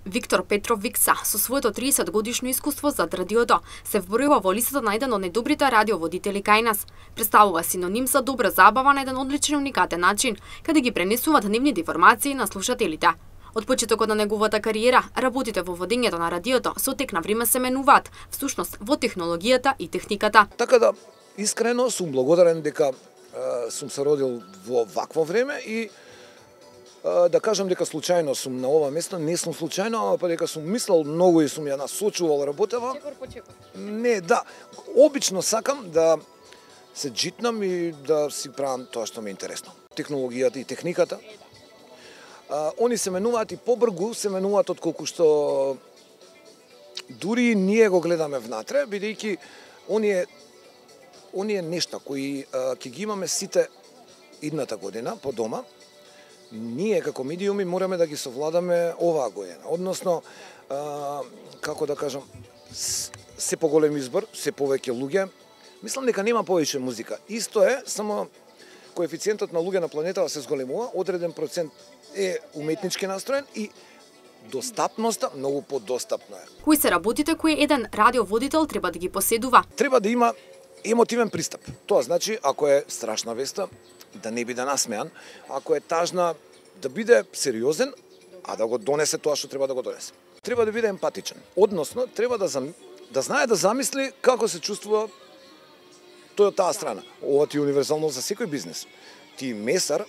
Виктор Петров Викса, со своето 30-годишно искуство зад радиото, се вбројува во листата на еден од најдобрите радиоводители кај нас. Представува синоним за добра забава на еден одличен уникатен начин, каде ги пренесува дневните информации на слушателите. Од почетокот на неговата кариера, работите во водењето на радиото со тек на време се менуваат, всушност во технологијата и техниката. Така да, искрено сум благодарен дека сум се родил во вакво време и да кажам дека случајно сум на ова место, не сум случајно, па дека сум мислел многу и сум ја насочувал работава. Чекор по чекор. Не, да. Обично сакам да се джитнам и да си правам тоа што ми е интересно. Технологијата и техниката. Они се менуваат и побргу се менуваат отколку што дури ние го гледаме внатре, бидејќи оние нешта кои ќе ги имаме сите идната година по дома, ние како медиуми мораме да ги совладаме оваа година. Односно, како да кажам, се поголем избор, се повеќе луѓе. Мислам дека нема повеќе музика. Исто е, само коефициентот на луѓе на планетава се зголемува, одреден процент е уметнички настроен и достапноста многу подостапна е. Кои се работите кои еден радиоводител треба да ги поседува? Треба да има емотивен пристап. Тоа значи, ако е страшна веста, да не биде насмеан, ако е тажна, да биде сериозен, а да го донесе тоа што треба да го донесе. Треба да биде емпатичен. Односно, треба да знае да замисли како се чувствува тој од таа страна. Ова ти е универзално за секој бизнес. Ти месар,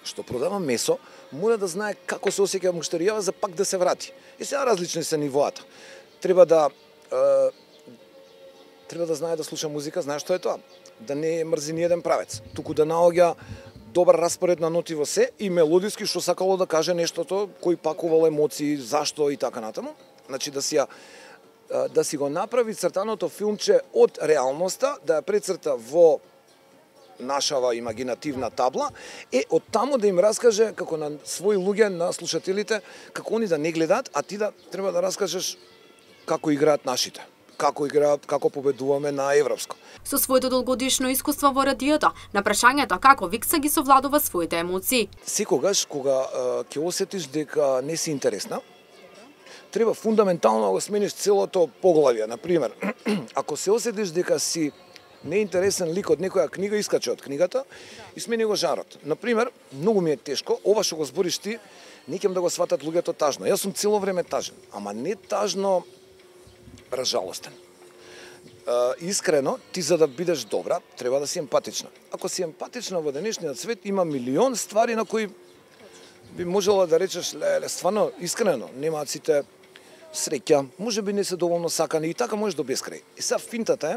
што продава месо, мора да знае како се осеќа муштеријава за пак да се врати. И сега различни се нивоата. Треба да знае да слуша музика, знае што е тоа. Да не мрзи ни еден правец, туку да наоѓа добар распоред на ноти во се и мелодиски што сакало да каже нештото, кој пакувал емоции, зашто и така натаму. Значи да си го направи цртаното филмче од реалноста, да ја прецрта во нашава имагинативна табла, од таму да им раскаже како на своји луѓе, на слушателите, како они да не гледаат, а ти да треба да раскажеш како играат нашите. Како победуваме на европско. Со своето долгогодишно искуство во радиото, на прашањето како Викса ги совладува своите емоции. Секогаш кога ќе осетиш дека не си интересна, треба фундаментално да го смениш целото поглавје. Например, ако се осетиш дека си неинтересен лик од некоја книга, искачи од книгата и смени го жанрот. Например, многу ми е тешко, ова што го збориш ти, не ќе да го сватат луѓето тажно. Јас сум цело време тажен, ама не тажно разжалостен. Искрено, ти за да бидеш добра, треба да си емпатична. Ако си емпатична во денешниот свет, има милион ствари на кои би можела да речеш, леле, стварно, искрено, немаат сите среќа, може би не се доволно сакани и така можеш до бескрај. И сега финтата е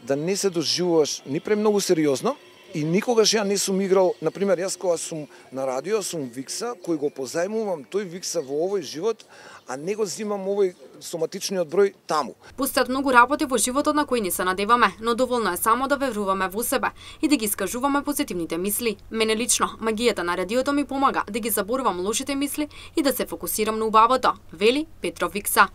да не се доживуваш ни премногу сериозно и никогаш ја не сум играл, например, јас кога сум на радио, сум Викса, кој го позајмувам тој Викса во овој живот, а не го зимам овој соматичниот број таму. Постојат многу работи во животот на кои ни се надеваме, но доволно е само да веруваме во себе и да ги искажуваме позитивните мисли. Мене лично, магијата на радиото ми помага да ги заборувам лошите мисли и да се фокусирам на убавото, вели Петров Викса.